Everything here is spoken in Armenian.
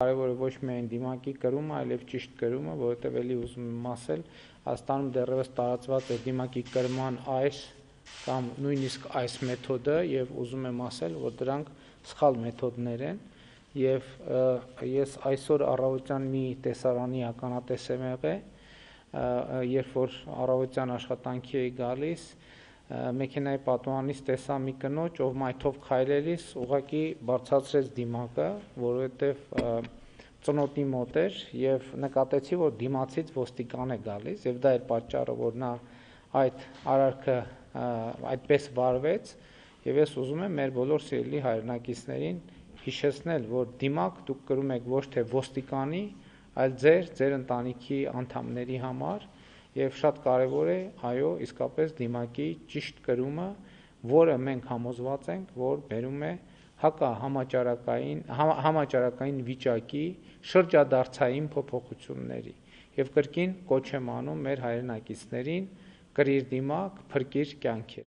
Կարևորը ոչ միայն դիմակի կրումը, այլև ճիշտ կրումը, որովհետև էլի ուզում եմ ասել, Հայաստանում դեռևս տարածված է դիմակի կրման այս կամ նույնիսկ այս մեթոդը եւ ուզում եմ ասել, որ դրանք սխալ մեթոդներ են եւ ես այսօր առավոտյան մի տեսարանի ականատես եմ եղել, երբ որ առավոտյան աշխատանքի էի գալիս, մեքենայի պատուհանից տեսա մի կնոջ, ով մայթով քայլելիս ուղղակի բարձրացրեց դիմակը, որովհետև ծնոտի մոտ էր եւ նկատեցի, որ դիմացից ոստիկան է գալիս եւ դա էր պատճառը, որ նա այդ արարքը այդպես վարվեց եւ ես ուզում եմ մեր բոլոր սիրելի հայրենակիցներին հիշեցնել, որ դիմակ դուք կրում եք ոչ թե ոստիկանի, այլ ձեր ընտանիքի անդամների համար եւ շատ կարեւոր է, այո, իսկապես դիմակի ճիշտ կրումը, որը մենք համոզված ենք, որ բերում է համաճարակային վիճակի շրջադարձային փոփոխությունների եւ կրկին կոչ եմ անում մեր հայրենակիցներին կրիր դիմակ, փրկիր կյանքեր։